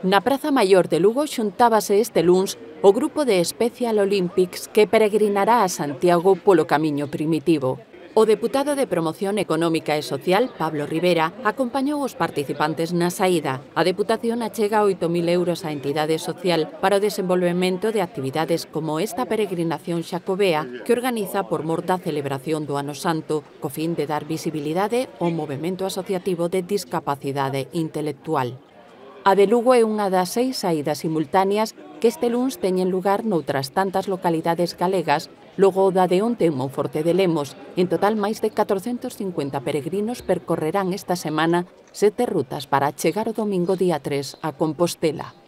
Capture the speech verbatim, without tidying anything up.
Na Praza Maior de Lugo xuntábase este luns o grupo de Special Olympics que peregrinará a Santiago polo camiño primitivo. O deputado de Promoción Económica e Social, Pablo Rivera, acompañou os participantes na saída. A Deputación achega oito mil euros á entidade social para o desenvolvemento de actividades como esta peregrinación xacobea que organiza por mor da celebración do Ano Santo, co fin de dar visibilidade ao movemento asociativo de discapacidade intelectual. A de Lugo é unha das seis saídas simultáneas que este luns teñen lugar noutras tantas localidades galegas, logo da de onte en Monforte de Lemos. En total, máis de catrocentos cincuenta peregrinos percorrerán esta semana sete rutas para chegar o domingo día tres a Compostela.